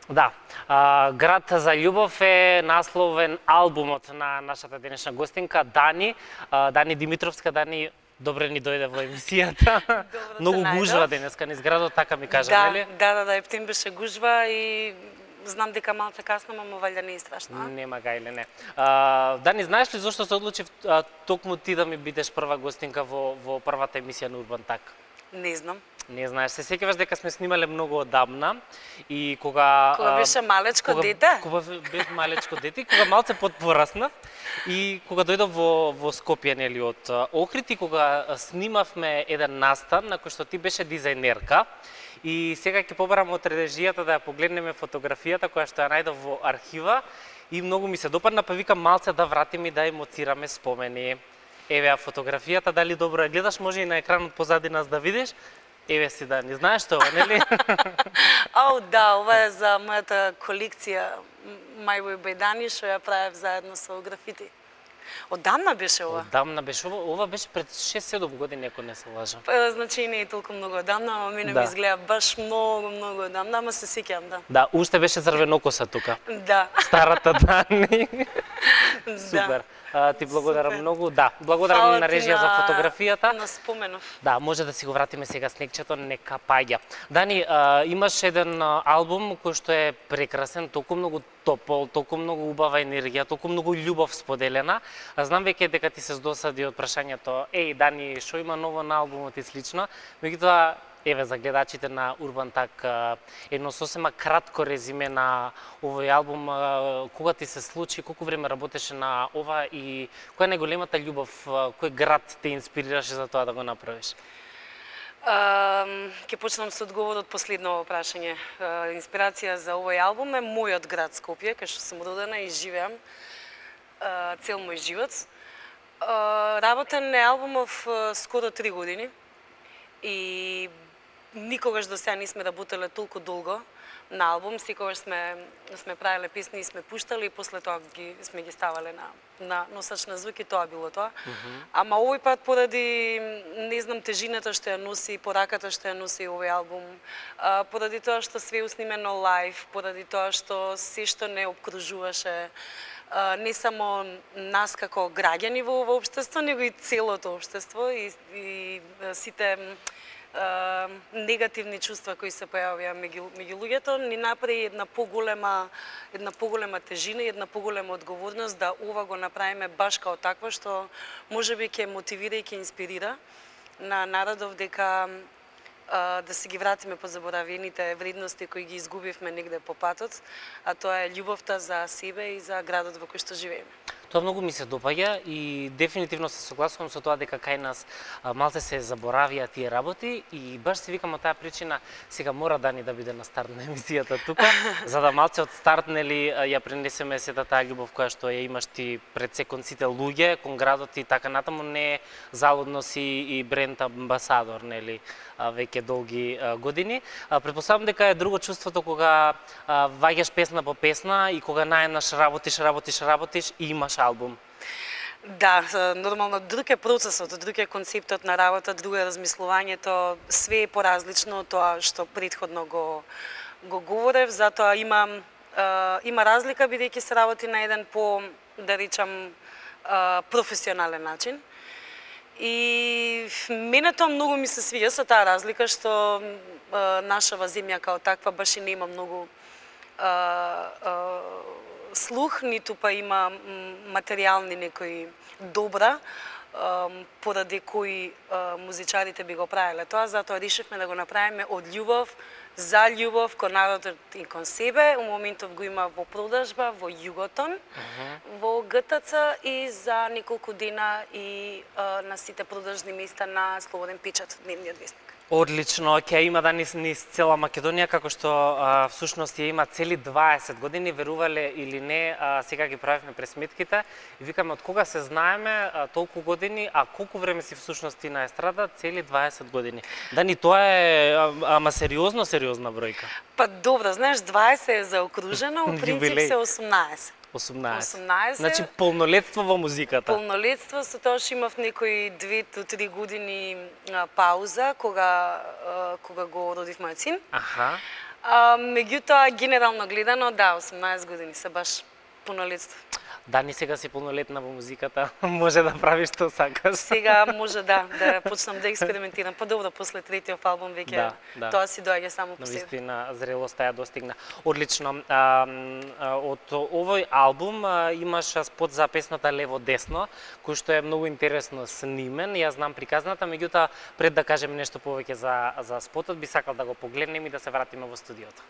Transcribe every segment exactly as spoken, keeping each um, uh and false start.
Да, а, Град за љубов е насловен албумот на нашата денешна гостинка Дани, а, Дани Димитровска. Дани, добре ни дојде во емисијата. Многу гужва денеска низ градот, така ми кажа, да, нели? Да, да, да, ептен беше гужва и знам дека малце касно, но валја не е страшно. Нема гајле, не. А, Дани, знаеш ли зошто се одлучив а, токму ти да ми бидеш прва гостинка во, во првата емисија на Урбан Так? Не знам. Не знаеш, се сеќаваш дека сме снимале многу одамна и кога Кога беше малечко кога, дете? Кога беше малечко дете, кога малце подпораснав и кога дојдов во во Скопје, нели, од Охрид, и кога снимавме еден настан на кој што ти беше дизајнерка. И сега ќе побарам од режијата да ја погледнеме фотографијата која што ја најдов во архива и многу ми се допадна, па викам малце да вратиме и да емоцираме спомени. Еве ја фотографијата, дали добро ја гледаш, може и на екранот позади нас да видиш. Еве си, Дани, знаеш тоа, нели? Ау, да, ова е за мојата колекција My Way by Dani, што ја правев заедно со графити. Одамна беше ова? Одамна беше ова, ова беше пред шест-седум години, ако не се лажам. Па, значи не е толку многу одамна, ама мене Да. ми изгледа баш многу, многу одамна, ама се сеќавам, да. Да, уште беше црвенокоса тука. Да. Старата Дани. Да. Супер. А, ти благодарам Супер. многу. Да, благодарам Фала на ти режија за на- фотографијата. На споменов. Да, може да си го вратиме сега снегчето, нека паѓа. Дани, а, имаш еден а, албум кој што е прекрасен, толку многу топол, толку многу убава енергија, толку многу љубов споделена. А знам веќе дека ти се здосади од прашањето, еј, Дани, што има ново на албумот и слично. Меѓутоа, еве за гледачите на Урбан Так, едно сосема кратко резиме на овој албум, кога ти се случи, колку време работеше на ова и која е најголемата љубов, кој град те инспирираше за тоа да го направиш? Ќе почнам со одговорот последно прашање. А, Инспирација за овој албум е мојот град Скопје, кај што сум родена и живеам а, цел мој живот. А, Работен е албумов а, скоро три години и никогаш до сега не сме работеле толку долго на албум, секогаш сме сме правеле песни и сме пуштали и после тоа ги сме ги ставале на на носач на звук и тоа било тоа. Mm -hmm. Ама овој пат поради не знам тежината што ја носи, пораката што ја носи овој албум, а, поради тоа што све уснимено лајв, поради тоа што се што не обкружуваше а, не само нас како граѓани во ова општество, него и целото општество и, и сите Uh, негативни чувства кои се појавија меѓу меѓу луѓето, ни направи една поголема една поголема тежина и една поголема одговорност да ова го направиме баш као такво што можеби ќе мотивира и ќе инспирира на народов дека uh, да се ги вратиме по заборавените вредности кои ги изгубивме негде по патот, а тоа е љубовта за себе и за градот во кој што живееме. Тоа многу ми се допаѓа и дефинитивно се согласувам со тоа дека кај нас а, малце се заборавија тие работи и баш си викам од таа причина сега мора Дани да биде на старт на емисијата тука, за да малце од старт, нели, ја пренесеме сета таа љубов која што ја имаш ти пред се кон сите луѓе, кон градот и така натаму. Не е залудно си и бренд амбасадор, нели, а, веќе долги а, години. А, Претпоставам дека е друго чувството кога а, ваѓаш песна по песна и кога наеднаш работиш, работиш, работиш и имаш албум. Да, нормално друг е процесот, друг е концептот на работа, друго е размислувањето, све е поразлично од тоа што претходно го го говорев, затоа има е, има разлика бидејќи се работи на еден по, да речам, е, професионален начин. И мене тоа многу ми се свија со таа разлика што е, нашава земја као таква баш и нема многу е, е, слух, ниту па има материјални некои добра, поради кои музичарите би го правеле тоа, затоа решивме да го направиме од љубов за љубов кон народот и кон себе. У моментов го има во продажба во Југотон, uh -huh. во Г Т Ц и за неколку дена и на сите продажни места на Слободен печат, дневниот вестник. Одлично, ќе има да низ, низ цела Македонија, како што а, всушност ја има цели дваесет години, верувале или не, а, сега ги правевме пресметките и викаме од кога се знаеме а, толку години, а колку време си всушност ти на естрада, цели дваесет години. Дани, тоа е а, ама сериозно, сериозна бројка. Па добро, знаеш, дваесет е заокружено, у принцип се осумнаесет. осумнаесет. осумнаесет. Значи полнолетство во музиката. Полнолетство, со тоа што имав некои две до три години а, пауза кога а, кога го родив мојот син. Аха. А, меѓутоа, генерално гледано, да, осумнаесет години се баш пунолетство. Дани сега си полнолетна во музиката, може да правиш што сакаш. Сега може да, да почнам да експериментирам. Па добро, после третиот албум веќе Да, да. тоа си доаѓа само по себе. Навистина, зрелоста ја достигна. Одлично. А, а, од овој албум а, имаш спот за песната Лево-десно, кој што е многу интересно снимен. Ја знам приказната, меѓутоа пред да кажем нешто повеќе за за спотот, би сакал да го погледнеме и да се вратиме во студиото.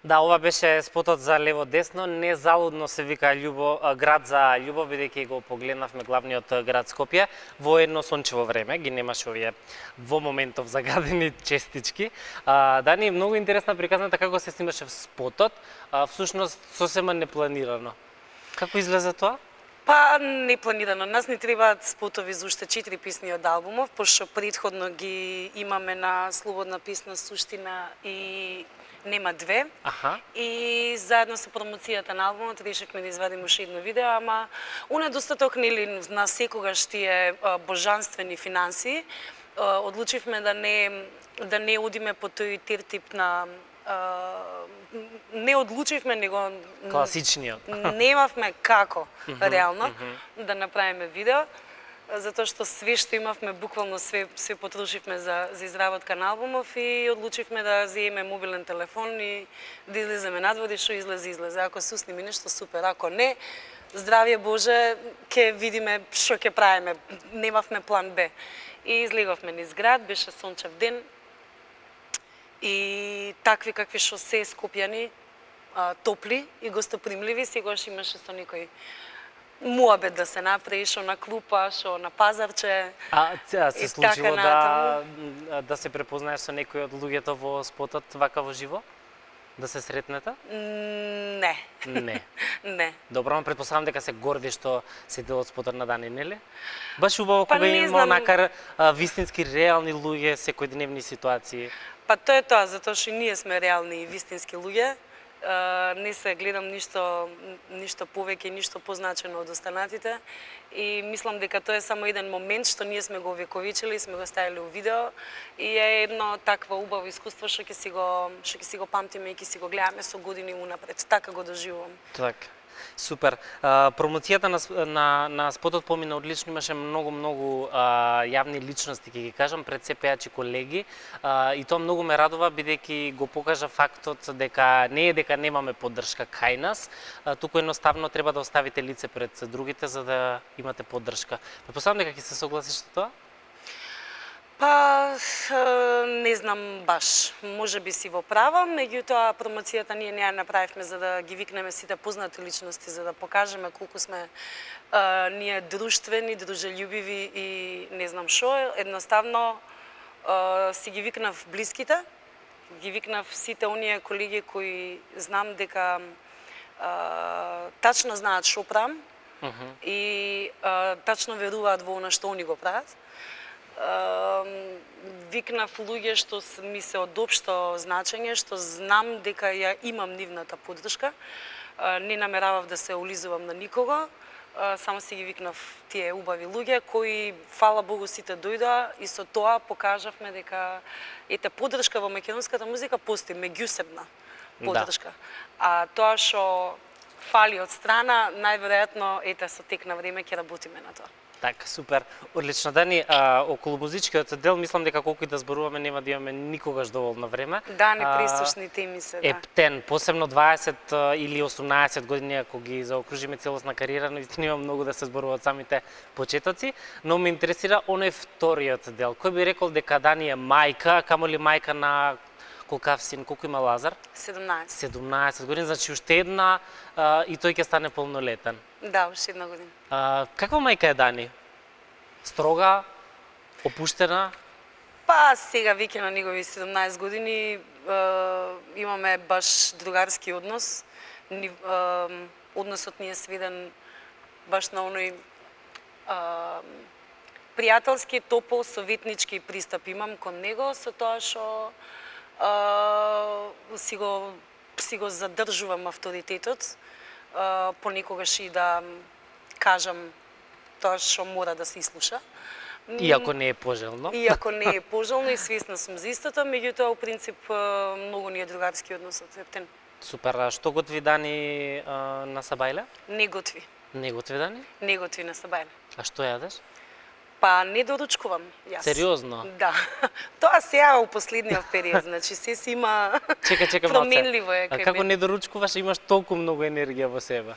Да, ова беше спотот за Лево-десно, незалудно се вика љубо, град за љубов, бидејќи го погледнавме главниот град Скопје во едно сончево време, ги немаше овие во моментов загадени честички. А, Дани, многу интересна приказната како се снимаше в спотот, а, всушност сосема непланирано. Како излезе тоа? Па, непланирано. Нас ни требаат спотови за уште четири песни од албумов, пошто предходно ги имаме на Слободна песна Суштина и Нема две. Аха. И заедно со промоцијата на албумот решивме да извадиме уште едно видео, ама у недостаток нели на секогаш тие божанствени финанси, одлучивме да не да не одиме по тој тертип на не одлучивме него класичниот. Немавме како реално mm -hmm. да направиме видео, затоа што све што имавме, буквално све све потрошивме за за изработка на албумов и одлучивме да земеме мобилен телефон и да излеземе надвор и што излезе излезе. Ако се усними нешто супер, ако не, здравје Боже, ќе видиме што ќе правиме. Немавме план Б. И излеговме низ град, беше сончев ден. И такви какви што се скопјани, а, топли и гостопримливи, сегаш имаше со некој муабет да се направи, шо на клупа, шо на пазарче. А, а се случило така да да се препознаеш со некој од луѓето во спотот вака во живо? Да се сретнете? Не. Не. Не. Добро, но предпоставам дека се горди што се дел од спотот на Дани, нели? Баш убаво Па кога не има знам. макар а, вистински реални луѓе, секојдневни ситуации. Па тоа е тоа, затоа што ние сме реални и вистински луѓе. Uh, не се гледам ништо ништо повеќе, ништо позначено од останатите и мислам дека тоа е само еден момент што ние сме го овековечили, сме го ставили у видео и е едно такво убаво искуство што ќе си го што ќе си го памтиме и ќе си го гледаме со години унапред. Така го доживувам. Така. Супер. А, промоцијата на, на, на спотот помина одлично, имаше многу, многу а, јавни личности, ќе ги кажам, пред се пејачи колеги. А, и тоа многу ме радува, бидејќи го покажа фактот дека не е дека немаме поддршка кај нас, а, туку едноставно треба да оставите лице пред другите за да имате поддршка. Претпоставам дека ќе се согласиш со тоа? Па, не знам баш, може би си во право, меѓутоа промоцијата ние не ја направивме за да ги викнеме сите познати личности, за да покажеме колку сме а, ние друштвени, дружелюбиви и не знам шо, едноставно а, си ги викнав блиските, ги викнав сите оние колеги кои знам дека а, тачно знаат шо правам Uh -huh. и а, тачно веруваат во она што они го прават. Uh, викнав луѓе што ми се од општо значење, што знам дека ја имам нивната поддршка. Uh, не намеравав да се улизувам на никого, uh, само си ги викнав тие убави луѓе кои, фала Богу, сите дојдоа и со тоа покажавме дека ете поддршка во македонската музика постои, меѓусебна поддршка. Да. А тоа што фали од страна, најверојатно ете со тек на време ќе работиме на тоа. Така, супер. Одлично, Дани, а, околу музичкиот дел, мислам дека колку и да зборуваме нема да имаме никогаш доволно време. Да, непресушни теми се, да. Ептен, посебно дваесет или осумнаесет години, ако ги заокружиме целосна кариера, наистина има многу да се зборува од самите почетоци, но ме интересира оној вториот дел. Кој би рекол дека Дани е мајка, камоли мајка на колкав син, колку има Лазар? седумнаесет. седумнаесет години, значи уште една а, и тој ќе стане полнолетен. Да, уште една година. А, каква мајка е Дани? Строга, опуштена? Па сега веќе на негови седумнаесет години е, имаме баш другарски однос. Ни, е, односот ни е сведен баш на оној е, пријателски, топол, советнички пристап имам кон него, со тоа што Uh, си го си го задржувам авторитетот, uh, понекогаш и да кажам тоа што мора да се ислуша. Иако не е пожелно. Иако не е пожелно и свесна сум за истото, меѓутоа, у принцип, многу ни е другарски односот. Ептен. Супер, а што готви Дани а, на Сабајле? Не готви. Не готви Дани? Не готви на Сабајле. А што јадеш? Па не доручкувам јас. Сериозно? Да. Тоа сега у последниот период, значи се си има Чека, чека променливо е малце. А како не доручкуваш, имаш толку многу енергија во себе?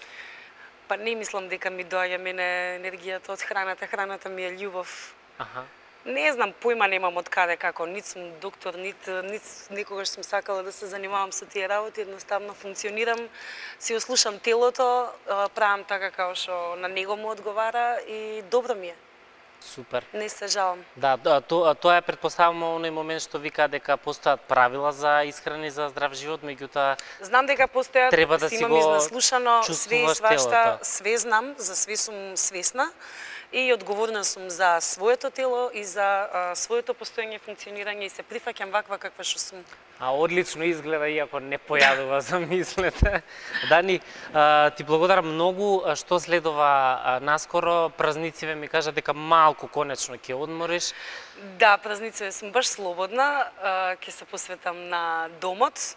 Па не мислам дека ми доаѓа мене енергијата од храната, храната ми е љубов. Аха. Не знам, појма немам од каде како, нит сум доктор, нит, нит некогаш сум сакала да се занимавам со тие работи, едноставно функционирам, си ослушам телото, правам така како што на него му одговара и добро ми е. Супер. Не се жалам. Да, тоа тоа е претпоставувам оној момент што вика дека постојат правила за исхрана и за здрав живот, меѓутоа знам дека постојат, треба да си имам го изнаслушано све и свашта, телото. све знам, за све сум свесна и одговорна сум за своето тело и за а, своето постоење, функционирање и се прифаќам ваква каква што сум. А одлично изгледа, иако не појадува за мислете. Дани, а, ти благодарам многу што следува а, наскоро. Празнициве ми кажа дека малку конечно ќе одмориш. Да, празнициве сум баш слободна, а, ќе се посветам на домот.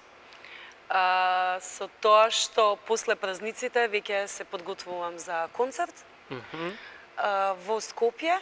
А, со тоа што после празниците веќе се подготвувам за концерт. Mm -hmm. во Скопје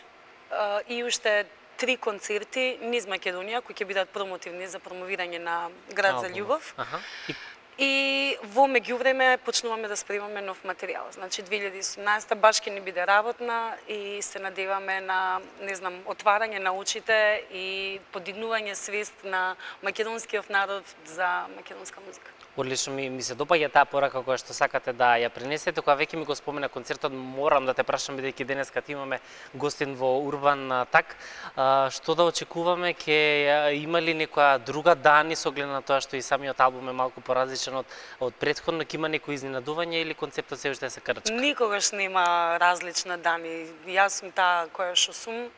и уште три концерти низ Македонија кои ќе бидат промотивни за промовирање на Град за љубов. Аха. И... и во меѓувреме почнуваме да спремаме нов материјал. Значи две илјади и осумнаесета баш ќе ни биде работна и се надеваме на, не знам, отварање на очите и подигнување свест на македонскиот народ за македонска музика. Одлично ми, ми се допаѓа таа порака која што сакате да ја пренесете. Кога веќе ми го спомена концертот, морам да те прашам, бидејќи денеска ти имаме гостин во Урбан Так, а, што да очекуваме, ќе има ли некоја друга Дани со оглед на тоа што и самиот албум е малку поразличен од од претходно, ќе има некои изненадување или концептот се уште се крчка? Никогаш нема различна Дани. Јас сум таа која што сум,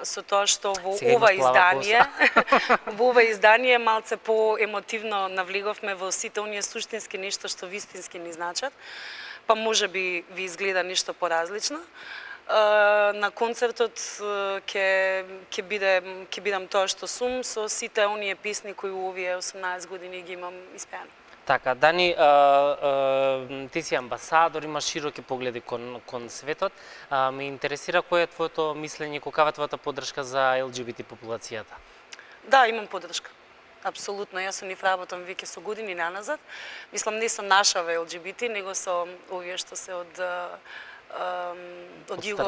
со тоа што во Сега ова имаш плава издание, во ова издание малце по-емотивно навлеговме во сите оние суштински нешто што вистински ни значат, па може би ви изгледа нешто поразлично. На концертот ќе ќе биде ќе бидам тоа што сум со сите оние песни кои у овие осумнаесет години ги имам испеани. Така, Дани, а, а, ти си амбасадор, имаш широки погледи кон, кон светот. А, ме интересира кој е твоето мислење, каква е твојата поддршка за Ел Џи Би Ти популацијата? Да, имам поддршка. Апсолутно, јас со нив работам веќе со години наназад. Мислам, не со нашава Ел Џи Би Ти, него со овие што се од од југо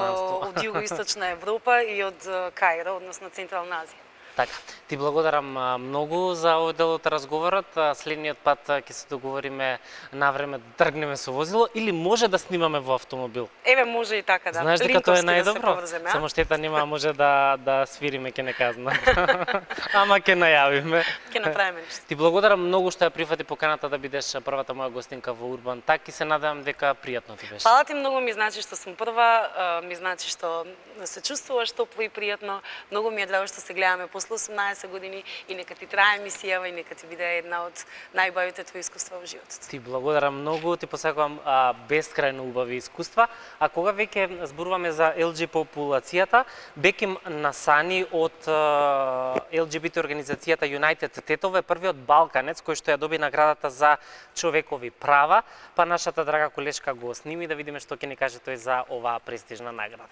од југоисточна Европа и од Каиро, односно Централна Азија. Така, ти благодарам многу за овој дел од разговорот. Следниот пат ќе се договориме на време да тргнеме со возило или може да снимаме во автомобил. Еве може и така, да. Знаеш дека тоа е најдобро? Да, само штета нема, може да да свириме, ќе не казна. Ама ќе најавиме. Ќе направиме нешто. Ти благодарам многу што ја прифати поканата да бидеш првата моја гостинка во Урбан Так и се надевам дека пријатно ти беше. Фала ти многу, ми значи што сум прва, ми значи што се чувствуваш топло и пријатно. Многу ми е драго што се гледаме после осумнаесет години и нека ти трае емисијава и нека ти биде една од најубавите твои искуства во животот. Ти благодарам многу, ти посакувам а, бескрајно убави искуства. А кога веќе зборуваме за Ел Џи популацијата, беким насани од а, Ел Џи Би Ти организацијата United Тетове, првиот балканец кој што ја доби наградата за човекови права, па нашата драга колешка го сними да видиме што ќе ни каже тој за оваа престижна награда.